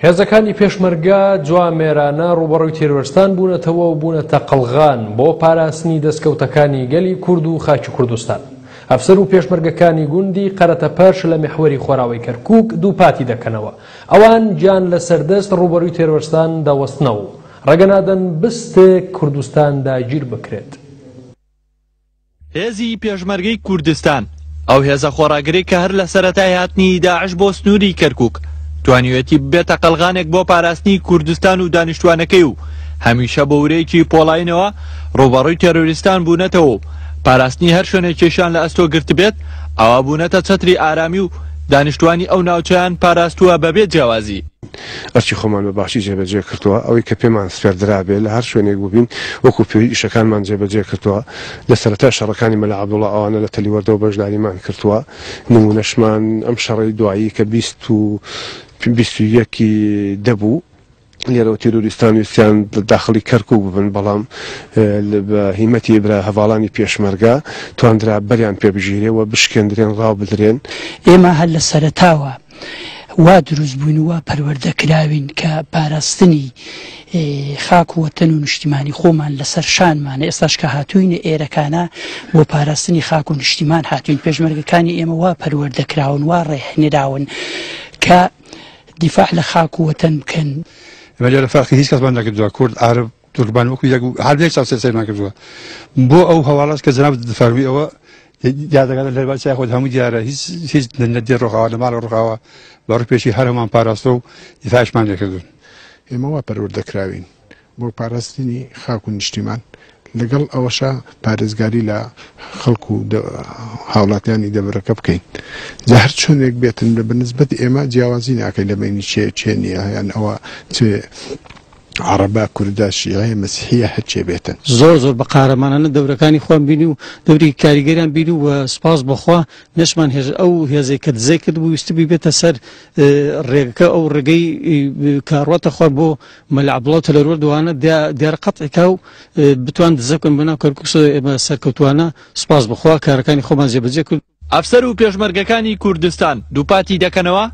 هێزەکانی پێشمەرگە جوامێرانە ڕووبەڕووی تیرۆرستان بوونەتەوە و بوونەتە قەڵغان بۆ پاراستنی دەستکەوتەکانی گەلی کورد و خاکی کوردستان. ئەفسەر و پێشمەرگەکانی گوندی قەرەتەپەش لە میحوەری خۆراوەی کەرکووک دووپاتی دەکەنەوە، ئەوان گیان لەسەر دەست ڕووبەرووی تێرۆرستان دەوەستنەوە و ڕێگە نادەن بستێک کوردستان داگیر بکرێت. هێزی پێشمەرگەی کوردستان، ئەو هێزە خۆڕاگرەی کە هەر لە سەرەتای هاتنی داعش بۆ سنووری کەرکووک، توانیویەتی ببێتە قەڵغانێک بۆ پاراستنی کوردستان و دانیشتووانەکەی و هەمیشە بە ورەیەکی پۆڵایینەوە ڕووبەڕووی تێرۆریستان بوونەتەوە و پاراستنی هەر شوێنێکیشیان لە ئەستۆ گرتبێت، ئەوا بوونەتە چەتری ئارامی و دانیشتووانی ئەو ناوچەیان پاراستووە بەبێ جیاوازی. ئەرکی خۆمان بە باشی جێبەجێ کردووە، ئەوەی کە پێمان سپێردرابێ لە هەر شوێنێک بووبین وەکو پێویست ئیشەکانمان جێبەجێ کردووە، لە سەرەتای شەڕەکانی مەلا عەبدوڵا ئەوانە لە تەلیوەردەوە بەشداریمان کردووە، نموونەشمان ئەم شەڕەی دوایی کە 20 و 21 ی دە بوو، لێرەوە تیرۆریستان ویستیان داخڵی کەرکوک ببن، بەڵام بە هیمەتی برا هەڤاڵانی پێشمەرگە تواندرا بەریان پێ بگیرێ و بشکێندرێن، ڕاو بدرێن. ئێمە هەر لە سەرەتاوە وا دروست بووین و وا پەروەردە کراوین کە پاراستنی خاک و وەتەن و نیشتیمانی خۆمان لەسەر شانمانە، ئێستاش کە هاتووینە ئێرەکانە بۆ پاراستنی خاک و نیشتیمان هاتووین. پێشمەرگەکانی ئێمە وا پەروەردە کراون، وا ڕێهنراون کە دیفاع لە خاک و وەتەن بکەن. ئێمە لێرە فەرقی هیچ کەسمان نەکردووە، کورد، عەرەب، تورکمان وەکو یەک هەر یەک چاو سەیرمان کردووە. بۆ ئەو هەواڵەش کە جەنابت فەرمووی ئەوە دیار دەکات لە لەربا چای خۆت هەموو دیارە، هیچ هیچ لە دێ ڕۆخاوە لە ماڵ ڕۆخاوە بە ڕووی پێشی هەر هەمان پاراستوە و دیفاعشمان لێکردوون. ئێمە وا پەروەردە کراوین بۆ پاراستنی خاک و نیشتیمان، لەگەڵ ئەوەشا پارێزگاری لە خەڵک و هاوڵاتیانی دەڤەرەکە بکەین، جا هەر چۆنێک بێتن لە بەنسبەت ئێمە جیاوازی ناکەین لە بەینی چێ چێ نییە یان ئەوە چ عەڕەبە، کوردە، شیعەیە، مەسیحیە هەرچێ بێتن. زۆر زۆر بە قارەمانانە دەورەکانی خۆیان بینی و دەوری کاریگەریان بینی و سوپاس بۆ خوا نەشمان هێشت ئەو هێزەی کە دزەی کردبوو ویستبووی بێتە سەر ڕێگەکە ئەو ڕێگەی کە ڕواتە خوار بۆ مەلا عەبدوڵا و تەلەروەرد وانە دیارە قەتعی کا و بتوان دزە بکەن بۆ ناو کەرکوک ئێمە سەرکەوتوانە سوپاس بۆ خوا کارەکانی خۆمان جێبەجێ کرد. ئەفسەر و پێشمەرگەکانی کوردستان دووپاتی دەکەنەوە،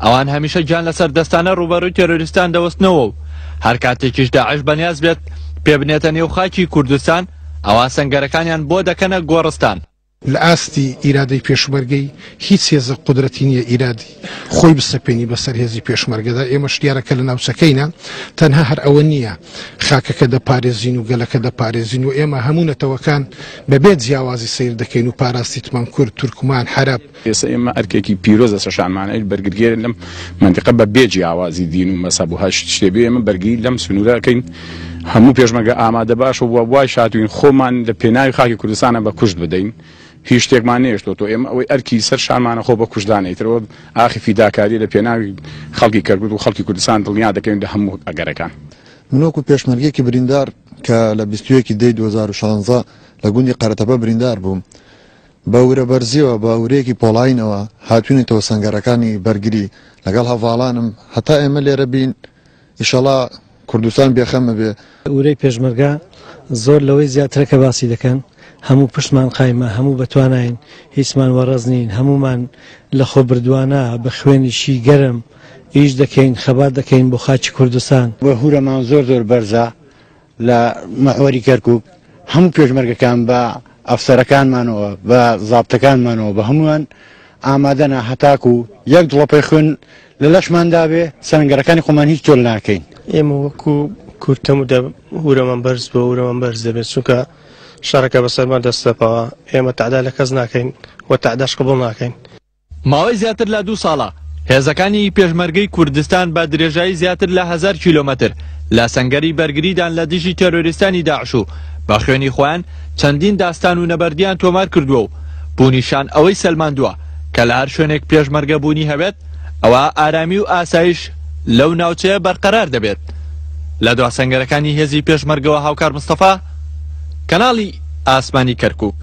ئەوان هەمیشە گیان لەسەر دەستانە ڕووبەڕووی تێرۆریستان دەوەستنەوە و هەر کاتێکیش داعش بەنیاز بێت پێ بنێتە نێو خاکی کوردستان، ئەوا سەنگەرەکانیان بۆ دەکەنە گۆڕستان. لە ئاستی ئیرادەی پێشمەرگەی هیچ هێزێک قودرەتی نییە ئیرادی خۆی بسەپێنی بەسەر هێزی پێشمەرگەدا، ئێمەش دیارە کە لە ناوچەکەینە تەنها هەر ئەوە نییە خاکەکە دەپارێزین و گەلەکە دەپارێزین و ئێمە هەموو نەتەوەکان بەبێ جیاوازی سەیر دەکەین و پاراستیتمان کورد، تورکمان، عەرەب. ئێستا ئێمە ئەرکێکی پیرۆز لەسەر شانمانە بەرگریگەرین لەم مەنتیقە بە بێ جیاوازی دین و مەزهەب و هەر شتێ بێ ئێمە بەرگری لەم سنوورە ئەکەین هەموو پێشمەرگە ئامادە باش و وایش هاتووین خۆمان لە پێناوی خاکی کوردستانە بە کوشت بدەین هیچ شتێکمان نەهێشتۆتەوە ئێمە ئەوەی ئەرکی سەر شانمانە خۆ بە کوشتدانە ئیتر ئەوە ئاخی فیداکاریە لە پێناوی خەڵکی کەرکوک و خەڵکی کوردستان دڵنیا دەکەین لە هەموو ئەگەرەکان. من وەکو پێشمەرگەیەکی بریندار کە لە 21 دەی 2016 لە گوندی قەرەتەپە بریندار بووم بە ورە بەرزیەوە بە ورەیەکی پۆڵاینەوە هاتوینەتەوە سەنگەرەکانی بەرگری لەگەڵ هەڤاڵانم هەتا ئێمە لێرە بین ئیشەڵا کوردستان بێخەمە بێ. ورەی پێشمەرگە زۆر لەوەی زیاترە کە باسی دەکەن، هەموو پشتمان قایمە، هەموو بەتواناین، هیچمان وەڕەز نین، هەموومان لەخۆبردووانە بە خوێنیشی گەرم ئیش دەکەین، خەبات دەکەین بۆ خاکی کوردستان. ورەمان زۆر زۆر بەرزە لە محوەری کەرکوک، هەموو پێشمەرگەکان بە ئەفسەرەکانمانەوە، بە زابتەکانمانەوە، بە هەمووان ئامادەنە هەتاکو یەک دڵۆپەی خوێن لە لەشماندا بێ سەنگەرەکانی خۆمان هیچ تۆل ناکەین. ئێمە وەکو کورد تەموو دە ورەمان بەرز بووە، ورەمان بەرز دەبێت، چونکە شەڕەکە بەسەرمان دەستەپەوە، ئێمە تەعدا لە کەس ناکەین و تەعداش قبوڵ ناکەین. ماوەی زیاتر لە دوو ساڵە هێزەکانی پێشمەرگەی کوردستان بە درێژایی زیاتر لە هەزار کیلۆمەتر لە سەنگەری بەرگریدان لە دژی تێرۆریستانی داعش و بە خوێنی خۆیان چەندین داستان و نەبەردیان تۆمار کردووە و بوونیشان ئەوەی سەلماندووە کە لە هەر شوێنێک پێشمەرگە بوونی هەبێت ئەوا ئارامی و ئاسایش لەو ناوچەیە بەرقەرار دەبێت. لە دوا سەنگەرەکانی هێزی پێشمەرگەوە هاوکار مستەفا، کەناڵی ئاسمانی کەرکوک.